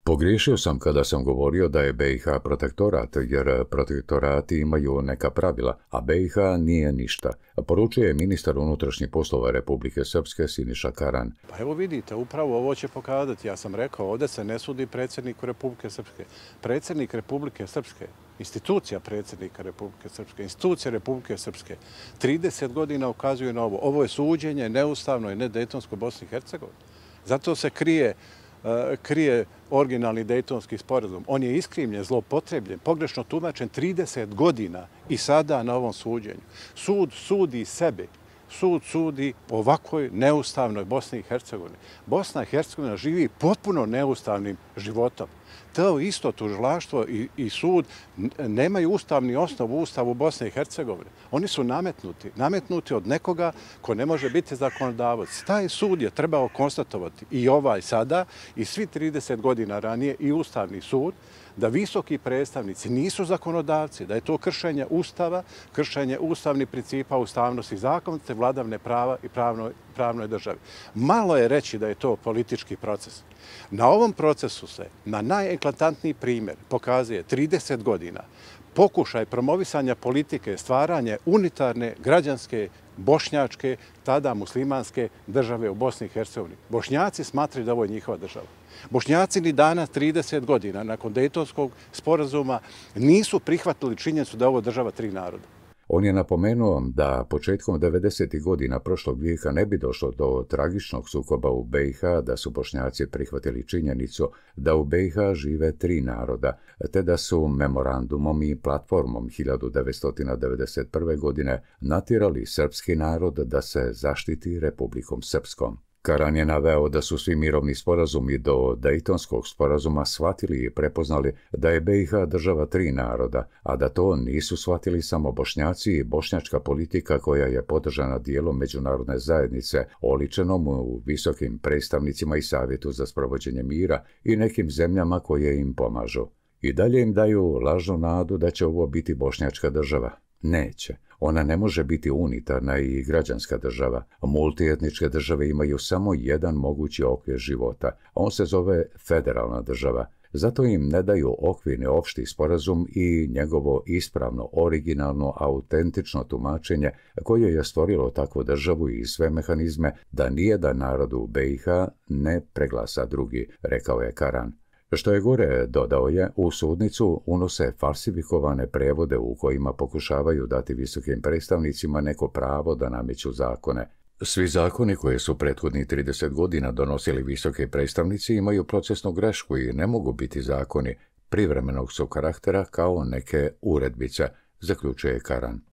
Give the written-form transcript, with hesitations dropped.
Pogriješio sam kada sam govorio da je BiH protektorat, jer protektorati imaju neka pravila, a BiH nije ništa, poručuje ministar unutrašnjih poslova Republike Srpske Siniša Karan. Pa evo vidite, upravo ovo će pokazati. Ja sam rekao, ovdje se ne sudi predsjedniku Republike Srpske. Predsjednik Republike Srpske, institucija predsjednika Republike Srpske, institucija Republike Srpske, 30 godina ukazuje na ovo. Ovo je suđenje neustavno i nedejtonsko Bosni i Hercegovini. Zato se krije originalni dejtonski sporazum. On je iskrivljen, zloupotrebljen, pogrešno tumačen 30 godina i sada na ovom suđenju. Sud sudi sebe. Sud sudi ovakvoj neustavnoj Bosni i Hercegovini. Bosna i Hercegovina živi potpuno neustavnim životom. To isto tužilaštvo i sud nemaju ustavni osnov u Ustavu Bosne i Hercegovine. Oni su nametnuti od nekoga ko ne može biti zakonodavac. Taj sud je trebao konstatovati i ovaj sada i svi 30 godina ranije i Ustavni sud da visoki predstavnici nisu zakonodavci, da je to kršenje Ustava, kršenje ustavnih principa, ustavnosti, zakonite, vladavine prava i pravnoj državi. Malo je reći da je to politički proces. Na ovom procesu se na najeklatantniji primjer pokazuje 30 godina pokušaj promovisanja politike, stvaranje unitarne, građanske, bošnjačke, tada muslimanske države u Bosni i Hercegovini. Bošnjaci smatraju da ovo je njihova država. Bošnjaci ni danas, 30 godina nakon Dejtonskog sporazuma, nisu prihvatili činjenicu da je ovo država tri naroda. On je napomenuo da početkom 90. godina prošlog vijeka ne bi došlo do tragičnog sukoba u BiH da su Bošnjaci prihvatili činjenicu da u BiH žive tri naroda, te da su memorandumom i platformom 1991. godine natjerali srpski narod da se zaštiti Republikom Srpskom. Karan je naveo da su svi mirovni sporazumi do Dejtonskog sporazuma shvatili i prepoznali da je BiH država tri naroda, a da to nisu shvatili samo Bošnjaci i bošnjačka politika koja je podržana dijelom međunarodne zajednice, oličenom u visokim predstavnicima i Savjetu za sprovođenje mira i nekim zemljama koje im pomažu. I dalje im daju lažnu nadu da će ovo biti bošnjačka država. Neće. Ona ne može biti unitarna i građanska država. Multietničke države imaju samo jedan mogući okvir života. On se zove federalna država. Zato im ne daju okvirni opšti sporazum i njegovo ispravno, originalno, autentično tumačenje koje je stvorilo takvu državu i sve mehanizme da nijedan narod u BiH ne preglasa drugi, rekao je Karan. Što je gore, dodao je, u sudnicu unose falsifikovane prevode u kojima pokušavaju dati visokim predstavnicima neko pravo da nameću zakone. Svi zakoni koje su prethodnih 30 godina donosili visoki predstavnici imaju procesnu grešku i ne mogu biti zakoni, privremenog su karaktera kao neke uredbice, zaključuje Karan.